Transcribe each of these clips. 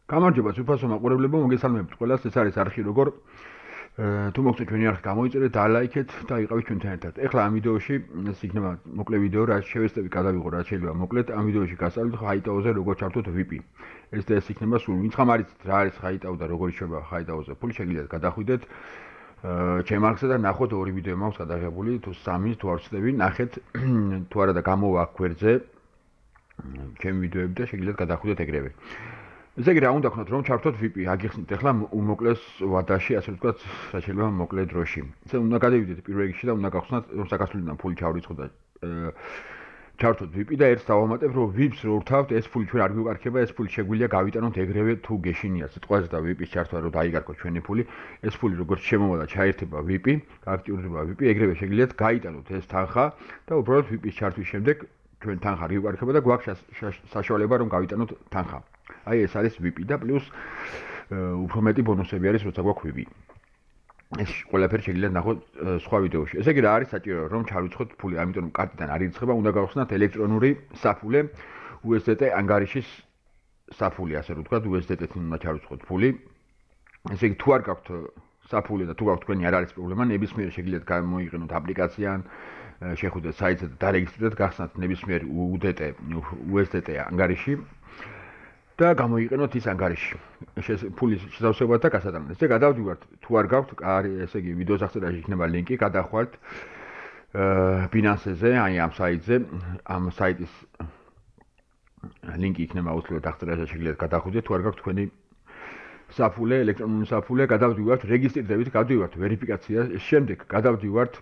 გამარჯობა სუფასო მაყურებლებო, მოგესალმებით ყველას. ეს არის არხი როგორ თუ მოგწონთ ჩვენი არხი გამოიწერეთ, დალაიქეთ და იყავით ჩვენთან ერთად. ეხლა ამ ვიდეოში ეს იქნება მოკლე ვიდეო, რაც შევეცდები გადავიღო, რაც შეიძლება მოკლედ. ამ ვიდეოში გასწავლით ხაიტაოზე როგორ ჩართოთ VIP. ეს და ეს იქნება სულ ვინც ხომ არის რა არის ხაიტაო და როგორ შევა ხაიტაოზე ფული შეგიძლიათ გადახვიდეთ ჩემ არხზე და ნახოთ ორი ვიდეო მაქვს გადაღებული, თუ სამი, თუ არ ვცდები, ნახეთ თუ არა და გამოვა აქ გვერდზე ჩემი ვიდეოები და შეგიძლიათ გადახვიდეთ ეგრევე. ესე იგი რა უნდა გქონოთ რომ ჩართოთ VIP, აგიხსნით ახლა უმოკლეს ვადაში, ასე ვთქვათ, რა შეიძლება მოკლე დროში. ესე უნდა გადავიდეთ პირველ რიგში და უნდა გახსნათ რომ საქართველოსიდან ფული ჩავრიცხოთ და ჩართოთ VIP და ერთს დავამატებ რომ VIP-ს რო ვრთავთ, ეს ფული ჩვენ არ გვიყარქება, ეს ფული შეგვიძლია გავიტანოთ ეგრევე თუ გეშინია სიტყვაზე და VIP-ს ჩართვა რომ დაიგარქოთ ჩვენი ფული, ეს ფული როგორც შემოვა და ჩაერთება VIP, გააქტიურდება VIP, ეგრევე შეგიძლიათ გაიტანოთ ეს თანხა და უბრალოდ VIP-ს ჩართვის შემდეგ ჩვენ თანხა გვიყარქება და გვაქვს საშუალება რომ გავიტანოთ თანხა. აი ეს არის VIP და პლუს უფრო მეტი ბონუსები არის როცა გვაქვს VIP. ეს ყველაფერი შეგიძლიათ ნახოთ სხვა ვიდეოში. ესე იგი რა არის საჭირო რომ ჩავიცხოთ ფული, ამიტომ რომ კარტიდან არ ირიცხება, უნდა გავხსნათ ელექტრონური საფულე USDT ანგარიშის საფული, ასე რომ ვთქვათ, USDT-ით უნდა ჩავიცხოთ ფული. ესე იგი თუ არ გაქვთ საფულე და თუ გაქვთ თქვენი არ არის პრობლემა, ნებისმიერ შეგიძლიათ გამოიყენოთ აპლიკაციიდან, შეხვიდეთ საიტზე და დარეგისტრირდეთ, გახსნათ ნებისმიერ USDT ანგარიში. და გამოიყენოთ ის ანგარიში. ფულის შესავსებად და გასატანად. ესე გადავდივართ, თუ არ გაქვთ, ესე იგი ვიდეოს აღწერაში იქნება ლინკი, გადახვალთ Binance-ზე, აი ამ საიტზე, ამ საიტის ლინკი იქნება აუცილებლად აღწერაში, შეგიძლიათ გადახვიდეთ, თუ არ გაქვთ თქვენი საფულე, ელექტრონული საფულე, გადავდივართ, რეგისტრირდებით, გადავდივართ ვერიფიკაციას, შემდეგ გადავდივართ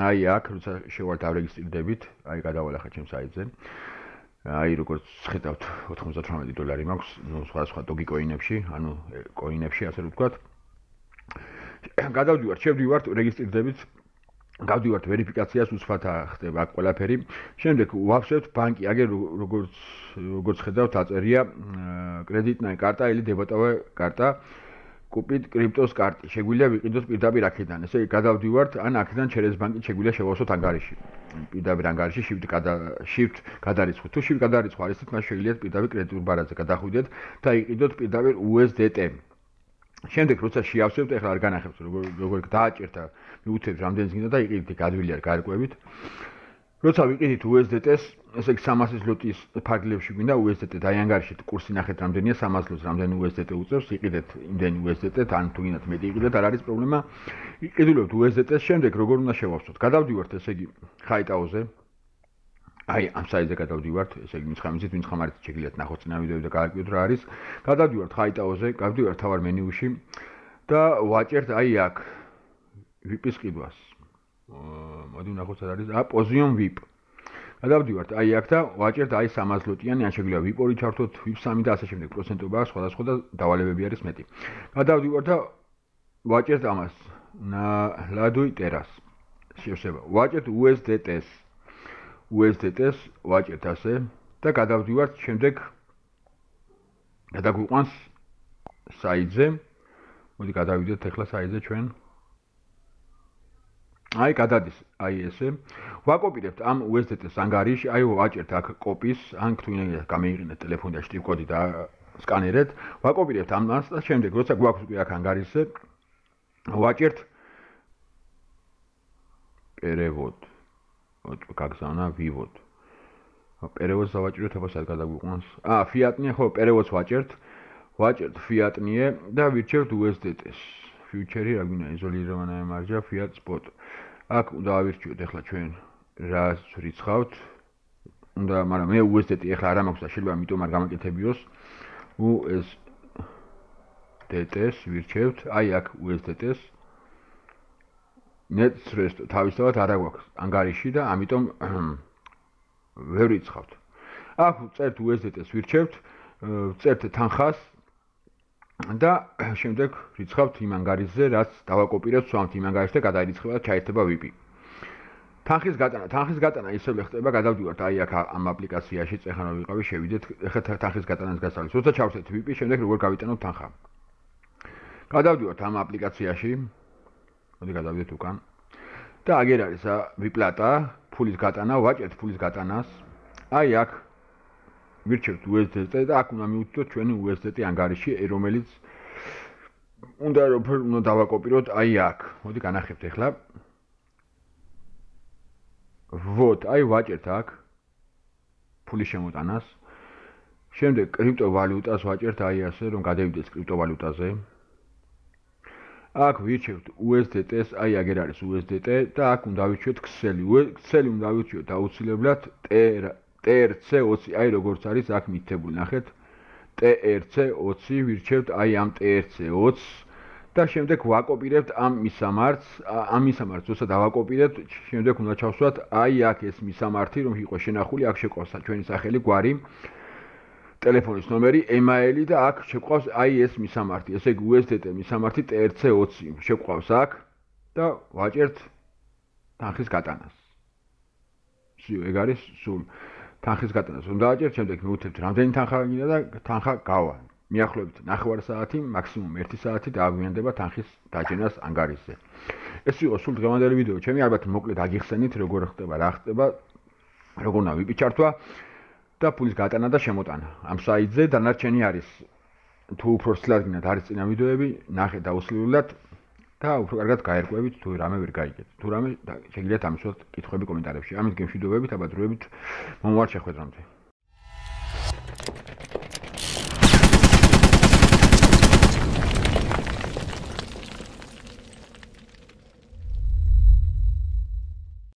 აი აქ, როცა შევართ ავრეგისტრირდებით, აი გადავალახე ჩემ საიტზე. აი როგორც ხედავთ $98 მაქვს, ნუ სხვა დოგიკოინებში, ანუ კოინებში, ასე ვთქვათ. გადავდივართ, შევდივართ რეგისტრირდებით, გავდივართ ვერიფიკაციას, უცბათა ხდება აქ ყველაფერი. შემდეგ ვავსებთ ბანკი, აგერ როგორც ხედავთ, აწერია კრედიტная карта или დებეტოვая карта. კუპით კრიპტოს კარტი შეგვიძლია ვიყიდოთ პირდაპირ აქედან. ესე იგი გადავდივართ, ან აქედან через ბანკი შეგვიძლია შევავსოთ ანგარიში. პირდაპირ ანგარიში shift გადარიცხოთ. თუ shift გადარიცხვა არის, მაშინ შეგიძლიათ პირდაპირ კრედიტულ ბარათზე გადახვიდეთ და იყიდოთ პირდაპირ USDT. შემდეგ როცა შეავსებთ, ეხლა არ განახებთ, როგორ დააჭერთ, მიუცეთ რამდენიც გინდა და იყიდით გადვილი არ გარკვევით. როცა ვიყიდით USDT-ს, ესე იგი 300 ზლოტის ფარგლებში გვინდა USDT და აი ანგარიში კურსი ნახეთ რამდენია 300 ზლოტს, რამდენი USDT უწევს, იყიდეთ იმდენი USDT, ან თუ გინდათ მეტი იყიდეთ, არ არის პრობლემა. იყიდულებთ USDT-ს, შემდეგ როგორ უნდა შევავსოთ? გადავდივართ, ესე იგი ხაიტაოზე. აი ამ საიტზე გადავდივართ, ესე იგი მის ვინც ხომ არის შეგიძლიათ ნახოთ წინა ვიდეოები და გააკეთოთ რა არის. გადავდივართ ხაიტაოზე, გავდივართ თავარ მენიუში და ვაჭერთ აი აქ VIP-ის ყიდვას. მოდი ვნახოთ რა არის. Position VIP. გადავდივართ აი აქ და ვაჭერთ აი 300 ზლოტიანი, ან შეგვიძლია VIP-ორი ჩართოთ, VIP-3 და ასე შემდეგ. პროცენტობა აქვს სხვადასხვა და დავალებები არის მეტი. გადავდივართ და ვაჭერთ ამას. Ladui Teras. შევსება. ვაჭერთ USDT-ს. USDT-ს ვაჭერთ ასე და გადავდივართ შემდეგ გადაგვიყვანს საიტზე. მოდი გადავიდეთ ახლა საიტზე ჩვენ. აი გადადის, აი ესე. ვაკოპირებთ ამ USDT-ს ანგარიში, აი ვაჭერთ აქ კოპის, ან თუ გამეიყენეთ ტელეფონი და შტრიფ კოდი და სკანერეთ, ვაკოპირებთ ამას და შემდეგ როცა გვაქვს უკვე აქ ანგარიშზე, ვაჭერთ перевод. გაგზავნა ვივოდ. перевод-ს დავაჭიროთ, აბა სად გადაგვიყვანს? ფიატნია, ხო, перевод-ს ვაჭერთ. ვაჭერთ ფიატნიე და ვირჩევთ USDT-ს. ფიუჩერი რა გვინდა, იზოლირованная მარჯა, fiat spot. აქ უნდა ავირჩიოთ ახლა ჩვენ რას ვრიცხავთ. უნდა, მაგრამ მე USDT ახლა არ მაქვს და შეიძლება ამიტომ არ გამაკეთებიოს. USDT-ს ვირჩევთ, აი აქ USDT-ს. ნეტს თავისთავად არ აქვს ანგარიში და ამიტომ ვერ ვრიცხავთ. აქ წერთ USDT-ს ვირჩევთ, წერთ თანხას და შემდეგ რიცხავთ იმ ანგარიშზე, რაც დავაკოპირებთ, სვამთ იმ ანგარიშს და გადაირიცხება და ჩაერთება VIP. თანხის გატანა ისევ ხდება, გადავდივართ აი აქ ამ აპლიკაციაში, ეხლა რომ ვიყავი, შევიდეთ, ეხლა თანხის გატანას გასწავლით. როცა ჩავხსნით VIP, შემდეგ როგორ გავიტანოთ თანხა. გადავდივართ ამ აპლიკაციაში. მოდი გადავიდეთ უკან. და აგერ არის ვიპლატა, ფულის გატანა, ვაჭერთ ფულის გატანას. აი აქ ვირჩევთ USDT და აქ უნდა მივუწოდოთ ჩვენი USDT ანგარიში, რომელიც უნდა რომ უნდა დავაკოპიროთ აი აქ. მოდი განახებთ ახლა. Вот, აი ვაჭერთ აქ ფულის შემოტანას. შემდეგ კრიპტოვალუტას ვაჭერთ აი ასე, რომ გადავიდეს კრიპტოვალუტაზე. აქ ვირჩევთ USDT-ს, აი აგერ არის USDT და აქ უნდა ვირჩიოთ ქსელი. ქსელი უნდა ვირჩიოთ აუცილებლად TRC20, აი როგორც არის აქ მითითებული, ნახეთ. TRC20 ვირჩევთ აი ამ TRC20 და შემდეგ ვაკოპირებთ ამ მისამართს, როცა დავაკოპირებთ, შემდეგ უნდა ჩავსვათ აი აქ ეს მისამართი, რომ იყო შენახული, აქ შეყავს ჩვენი სახელი, გვარი, ტელეფონის ნომერი, email-ი და აქ შეყავს აი ეს მისამართი. ესე იგი USDT მისამართი TRC20 შეყავს აქ და ვაჭერთ თანხის გატანას. ეგ არის სულ თანხის გატანას უნდა აჭერთ, შემდეგ მივუწევთ რამდენი თანხა გინდა და თანხა გავა. მიახლოებით 9 საათი, მაქსიმუმ 1 საათი დააგვიანდება თანხის დაჯენას ანგარიშზე. ეს იყო სულ დღევანდელი ვიდეო. ჩემი ალბათ მოკლედ აგიხსენით როგორ ხდება, რა ხდება, როგორ უნდა ვიპიჩართვა და ფულის გატანა და შემოტანა. ამ საიტზე დანარჩენი არის თუ უფრო სლად გინდათ არის წინა ვიდეოები, ნახეთ აუცილებლად და უფრო კარგად გაერკვევით თუ რამე ვერ გაიგეთ. თუ რამე შეგიძლიათ ამისვათ კითხვები კომენტარებში. ამით გემშვიდობებით, აბა დროებით მომავალ შეხვედრამდე.